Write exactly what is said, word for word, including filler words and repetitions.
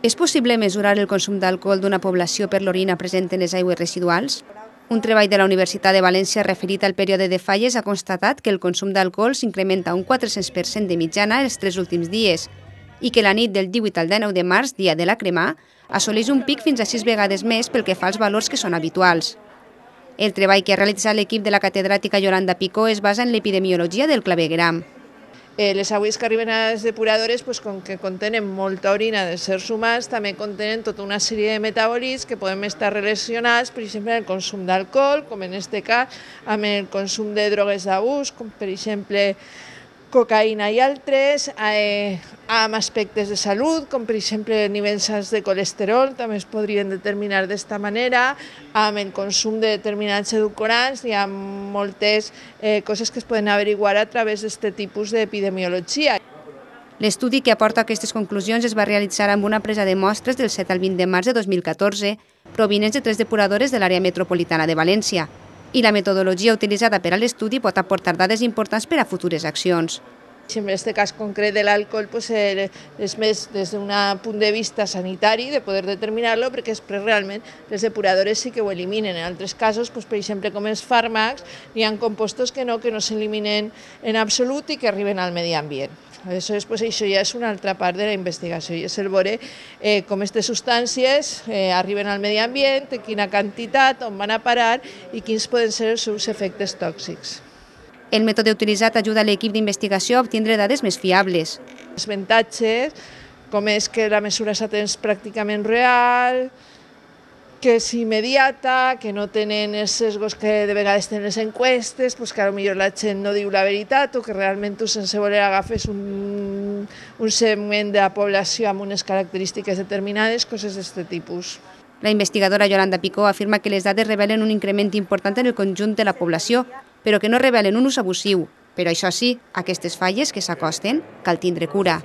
És possible mesurar el consum d'alcohol d'una població per l'orina present en les aigües residuals? Un treball de la Universitat de València referit al període de falles ha constatat que el consum d'alcohol s'incrementa un quatre-cents per cent de mitjana els tres últims dies i que la nit del divuit al dinou de març, dia de la cremà, assoleix un pic fins a sis vegades més pel que fa als valors que són habituals. El treball que ha realitzat l'equip de la catedràtica Yolanda Picó es basa en l'epidemiologia del clavegueram. Eh, les aigües que arriben a les depuradores, pues, com que contenen molta orina dels éssers humans, també contenen tota una sèrie de metabòlits que poden estar relacionats, per exemple, amb el consum d'alcohol, com en aquest cas, amb el consum de drogues d'abús, com per exemple cocaïna i altres, eh, amb aspectes de salut, com per exemple nivells alts de colesterol, també es podrien determinar d'esta manera, amb el consum de determinats edulcorants, hi ha moltes eh, coses que es poden averiguar a través d'aquest tipus d'epidemiologia. L'estudi que aporta aquestes conclusions es va realitzar amb una presa de mostres del set al vint de març de dos mil catorze, provinents de tres depuradores de l'àrea metropolitana de València, i la metodologia utilitzada per a l'estudi pot aportar dades importants per a futures accions. En aquest cas concret de l'alcohol pues, eh, és més des d'un punt de vista sanitari de poder determinar-lo, perquè després realment les depuradores sí que ho eliminen. En altres casos, pues, per exemple com els fàrmacs, hi ha compostos que no, que no s'eliminen en absolut i que arriben al medi ambient. Aleshores, pues, això ja és una altra part de la investigació, i és el veure eh, com aquestes substàncies eh, arriben al medi ambient, en quina quantitat, on van a parar i quins poden ser els seus efectes tòxics. El mètode utilitzat ajuda a l'equip d'investigació a obtindre dades més fiables. Els avantatges, com és que la mesura és a temps pràcticament real, que és immediata, que no tenen els sesgos que de vegades tenen les enquestes, doncs que potser la gent no diu la veritat o que realment tu sense voler agafes un, un segment de la població amb unes característiques determinades, coses d'aquest tipus. La investigadora Yolanda Picó afirma que les dades revelen un increment important en el conjunt de la població, però que no revelen un ús abusiu. Però això sí, aquestes falles que s'acosten cal tindre cura.